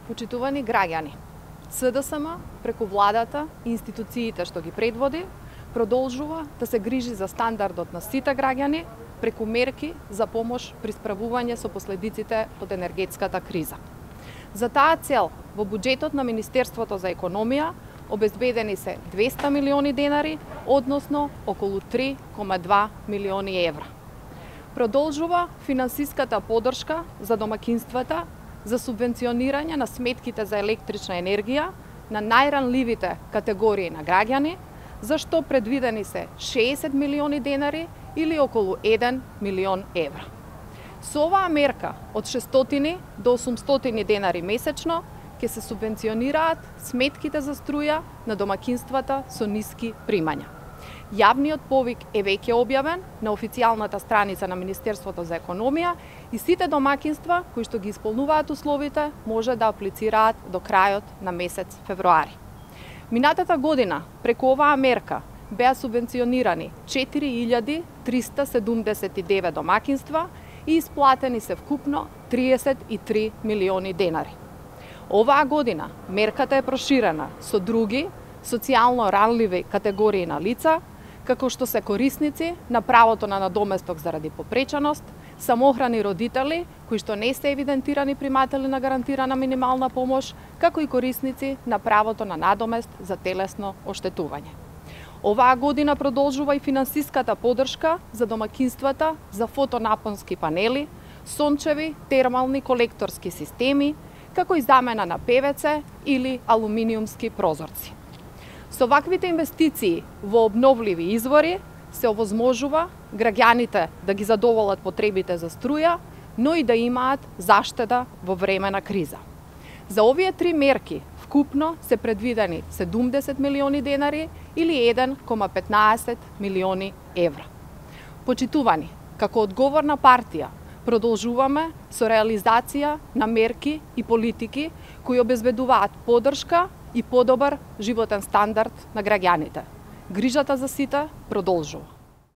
Почитувани граѓани, СДСМ преку владата и институциите што ги предводи продолжува да се грижи за стандардот на сите граѓани преку мерки за помош при справување со последиците од енергетската криза. За таа цел во буџетот на Министерството за економија обезбедени се 200 милиони денари, односно околу 3,2 милиони евра. Продолжува финансиската поддршка за домакинствата за субвенционирање на сметките за електрична енергија на најранливите категории на граѓани, за што предвидени се 60 милиони денари или околу 1 милион евра. Со оваа мерка од 600 до 800 денари месечно ќе се субвенционираат сметките за струја на домакинствата со ниски примања. Јавниот повик е веќе објавен на официјалната страница на Министерството за економија и сите домакинства кои што ги исполнуваат условите може да аплицираат до крајот на месец февруари. Минатата година преку оваа мерка беа субвенционирани 4379 домакинства и исплатени се вкупно 33 милиони денари. Оваа година мерката е проширена со други социјално ранливи категории на лица, како што се корисници на правото на надоместок заради попреченост, самохрани родители кои што не се евидентирани приматели на гарантирана минимална помош, како и корисници на правото на надомест за телесно оштетување. Оваа година продолжува и финансиската поддршка за домакинствата за фотонапонски панели, сончеви термални колекторски системи, како и замена на ПВЦ или алуминиумски прозорци. Со ваквите инвестиции во обновливи извори се овозможува граѓаните да ги задоволат потребите за струја, но и да имаат заштеда во време на криза. За овие три мерки вкупно се предвидени 70 милиони денари или 1,15 милиони евра. Почитувани, како одговорна партија, продолжуваме со реализација на мерки и политики кои обезбедуваат поддршка и подобар животен стандард на граѓаните. Грижата за сите продолжува.